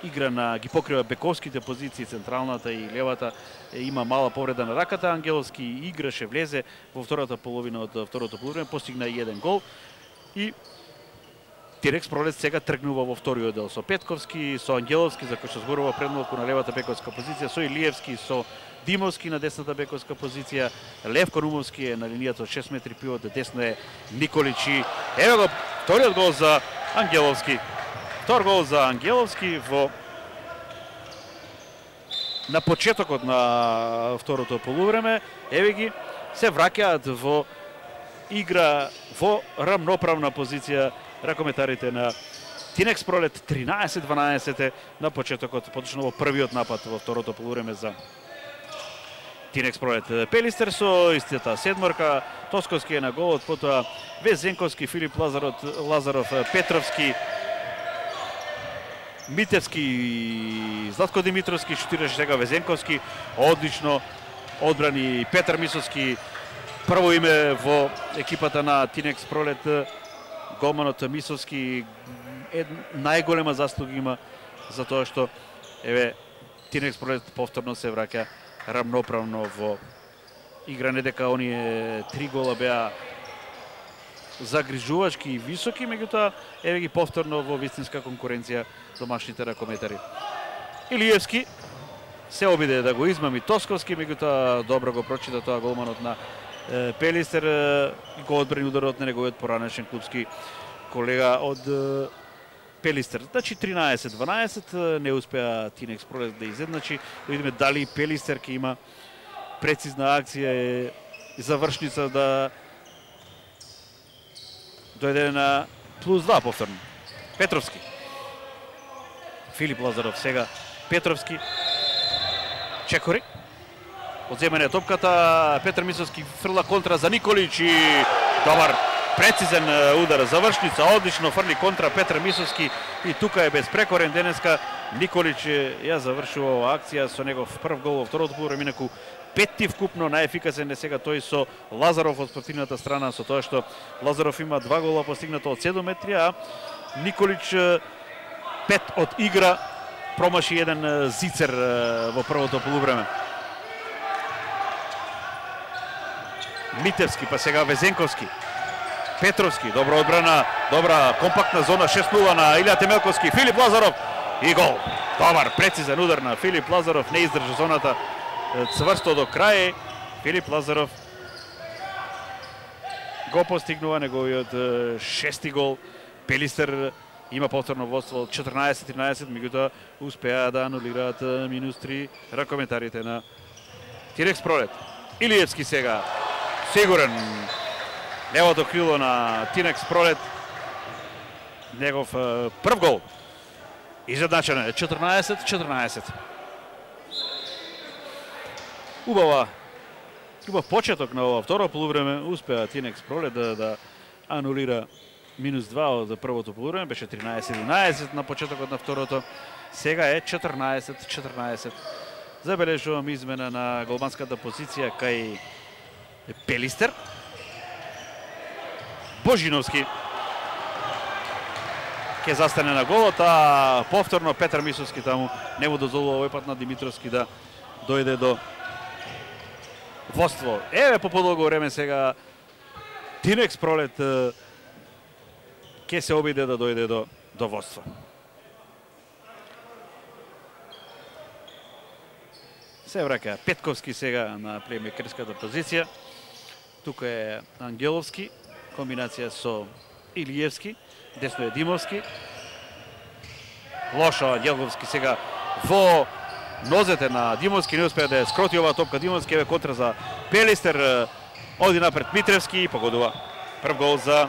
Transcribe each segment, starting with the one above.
Игра ги покрива бековските позиции, централната и левата. Има мала повреда на раката. Ангеловски играше, влезе во втората половина од второто полувреме, постигна и еден гол. И Тинекс Пролет сега тргнува во вториот дел со Петковски, со Ангеловски, за кој што зборува предмалку на левата бековска позиција, со Илиевски, со Димовски на десната бековска позиција, Левко Румовски е на линијата од 6 метри пивот, десно е Николич и еве го вториот гол за Ангеловски. Втор гол за Ангеловски на почетокот на второто полувреме. Еве ги се враќаат во игра во рамноправна позиција ракометарите на Тинекс Пролет. 13-12 на почетокот, поточно во првиот напад во второто полувреме за Тинекс Пролет. Пелистер со истата седморка, Тосковски е на голот, потоа Везенковски, Филип Лазаров, Петровски, Митевски, Златко Димитровски, шутираше сега Везенковски, одлично одбрани Петар Мисовски, прво име во екипата на Тинекс Пролет. Голманот Мисовски најголема заслуга има за тоа што еве Тинекс Пролет повторно се враќа рамноправно во игра, не дека оние 3 гола беа загрижувачки и високи, меѓутоа еве ги повторно во вистинска конкуренција домашните ракометари. Илиевски се обиде да го измами Тосковски, меѓутоа добро го прочита тоа голманот на Пелистер и го одбрани ударот на неговиот поранешен клубски колега од Пелистер. Значи 13-12 не успеа Тинекс Пролет да изедначи. Да видиме дали Пелистер ќе има прецизна акција и завршница да дојде на +2 повторно. Петровски. Филип Лазаров сега. Петровски. Чекори. Одземање топката. Петар Мисовски фрла контра за Николич и добар прецизен удар, завршница, одлично фрли контра Петар Мисовски и тука е безпрекорен денеска. Николич ја завршува оваа акција со негов прв гол во второто полувреме, инаку петти вкупно, најефикасен е сега тој со Лазаров од спротивната страна, со тоа што Лазаров има 2 гола постигнато од 7 метри, а Николич 5 од игра, промаши еден зицер во првото полувреме. Митевски, па сега Везенковски. Петровски, добра одбрана, добра компактна зона, 6-0 на Илија Темелковски. Филип Лазаров и гол. Добар, прецизен удар на Филип Лазаров, не издржа зоната цврсто до крај. Филип Лазаров го постигнува неговиот 6-ти гол. Пелистер има повторно водство 14-13, меѓутоа успеа да анулираат -3 ракометарите на Тинекс Пролет. Илиевски сега, сигурен, левото крило на Тинекс Пролет, негов прв гол. Изедначено е 14-14. Убав почеток на ова второ полувреме, успеа Тинекс Пролет да анулира -2 од првото полувреме, беше 13-11 на почетокот на второто, сега е 14-14. Забележувам измена на голманската позиција кај Пелистер. Божиновски ќе застане на голот, а повторно Петар Мисовски таму не му дозволува овој пат на Димитровски да дојде до водство. Еве по подолго време сега Тинекс Пролет ќе се обиде да дојде до водство. Се враќа Петковски сега на плеймекерската позиција. Тука е Ангеловски, комбинација со Илиевски, десно е Димовски. Лошо Ангеловски сега во нозете на Димовски, не успеа да ја скроти оваа топка Димовски, еве контра за Пелистер, оди напред Митревски и погодува прв гол за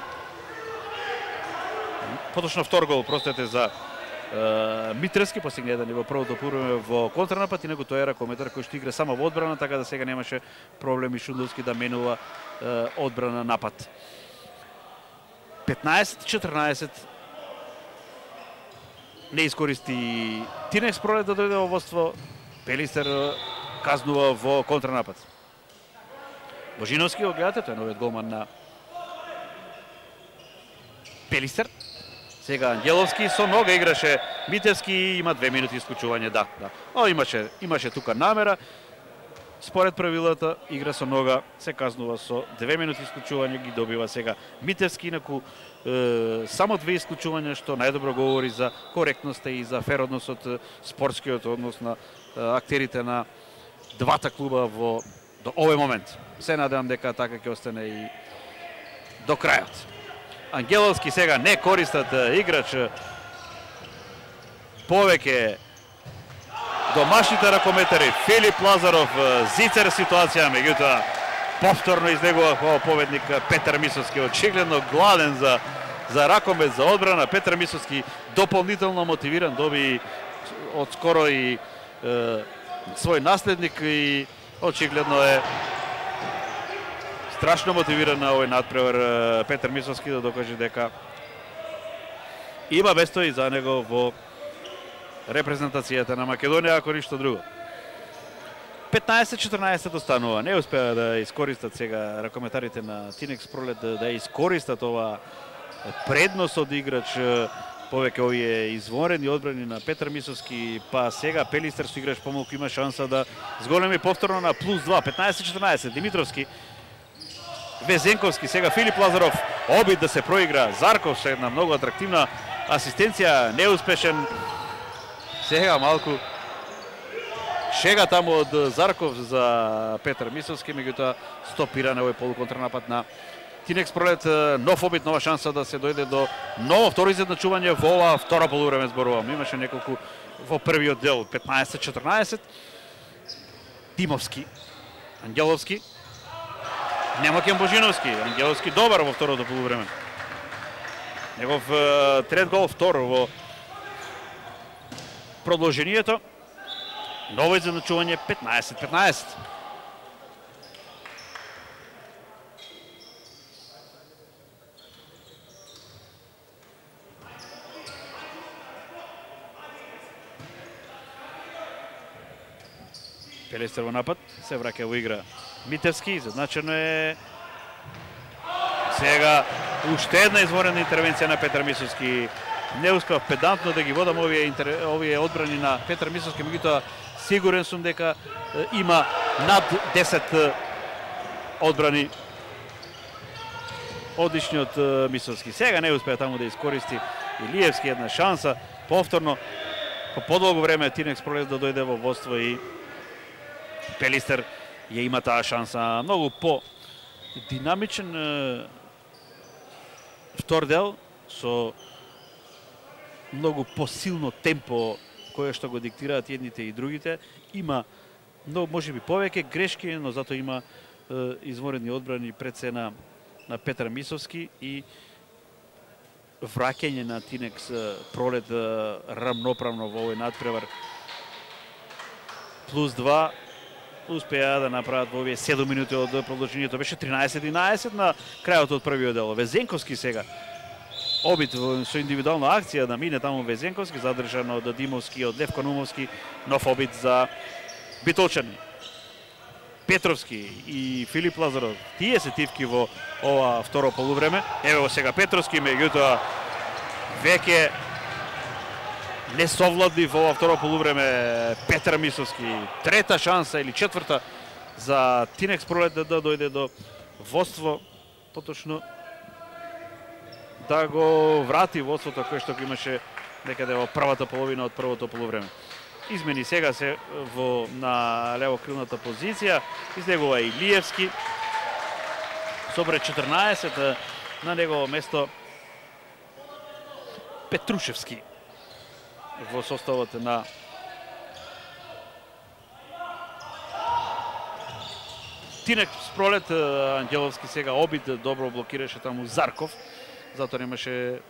поточно втор гол, простете, за Митревски, постигна еден во првото полувреме во контранапад, инаку тој е ракометар кој што игра само во одбрана, така да сега немаше проблеми Шундовски да менува одбрана напад. 15-14 не искористи Тинекс Пролет да дојде во водство. Пелистер казнува во контранапад. Божиновски, го гледате, тој е новиот голман на Пелистер. Сега Ангеловски со нога играше Митевски и има 2 минути исклучување, да. Но имаше тука намера. Според правилата, игра со нога се казнува со 2 минути исклучување, ги добива сега Митевски, инаку само 2 исклучувања, што најдобро говори за коректноста и за фер односот, спортскиот однос на актерите на двата клуба до овој момент. Се надевам дека така ќе остане и до крајот. Ангеловски сега не користат играч повеќе домашните ракометари. Филип Лазаров, зицер ситуација, меѓутоа повторно излегува како победник Петар Мисовски, очигледно гладен за ракомет, за одбрана. Петар Мисовски дополнително мотивиран, доби одскоро и свој наследник и очигледно е страшно мотивиран на овој надпревар Петар Мисовски да докаже дека има место и за него во репрезентацијата на Македонија, ако ништо друго. 15-14 останува. Не успеа да искористат сега ракометарите на Тинекс Пролет да искористат ова предност од играч повеќе овие извонредни одбрани на Петар Мисовски, па сега Пелистер со играч помалку има шанса да зголеми повторно на +2. 15-14 Димитровски, Везенковски, сега Филип Лазаров, обид да се проигра Зарков со една многу атрактивна асистенција, неуспешен. Сега малку шега таму од Зарков за Петар Мисовски, меѓутоа стопира на овој полуконтрнапад на Тинекс Пролет. Нов обид, нова шанса да се дојде до ново второ изедначување во ова втора полувреме, зборувам. Имаше неколку во првиот дел. 15-14. Тимовски, Ангеловски, Немакен Божиновски. Ангеловски добар во второто полувреме. Негов трет гол, втор во продолжението. Ново изедначување 15-15. Пелестер во напад, се враќа во игра Митевски, задначено е сега уште една извонредна интервенција на Петар Мисовски. Не успеав педантно да ги водам овие одбрани на Петар Мисовски, меѓутоа сигурен сум дека има над 10 одбрани одличниот Мисовски. Сега не успеа таму да искористи Илиевски една шанса. Повторно, по подолго време Тинекс Пролет да дојде во водство и Пелистер ја има таа шанса. Многу по-динамичен втор дел со многу посилно темпо кое што го диктираат едните и другите. Има многу, можеби повеќе грешки, но зато има извонредни одбрани пред се на Петар Мисовски и враќање на Тинекс Пролет рамноправно во овој надпревар. +2 успеа да направат во овие 7 минути од продолжението. Беше 13-11 на крајот од првиот дел. Везенковски сега обид со индивидуална акција да мине таму Везенковски, задржан од Димовски, од Левко Нумовски. Нов обид за битолчани. Петровски и Филип Лазаров, тие се тивки во ова второ полувреме. Ево сега Петровски, меѓутоа веќе не совлади во ова второ полувреме Петар Мисовски. Трета шанса или четврта за Тинекс Пролет да дојде до водство, поточно да го врати водството кое што го имаше некаде во првата половина од првото полувреме. Измени сега се на левокрилната позиција. Излегува Илиевски. Со број 14 на негово место Петрушевски во составот на Тинекс Пролет. Ангеловски сега обид, добро блокираше таму Зарков, затоа немаше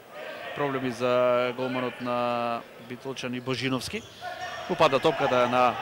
проблеми за голманот на Битолчани Божиновски. Упада топката на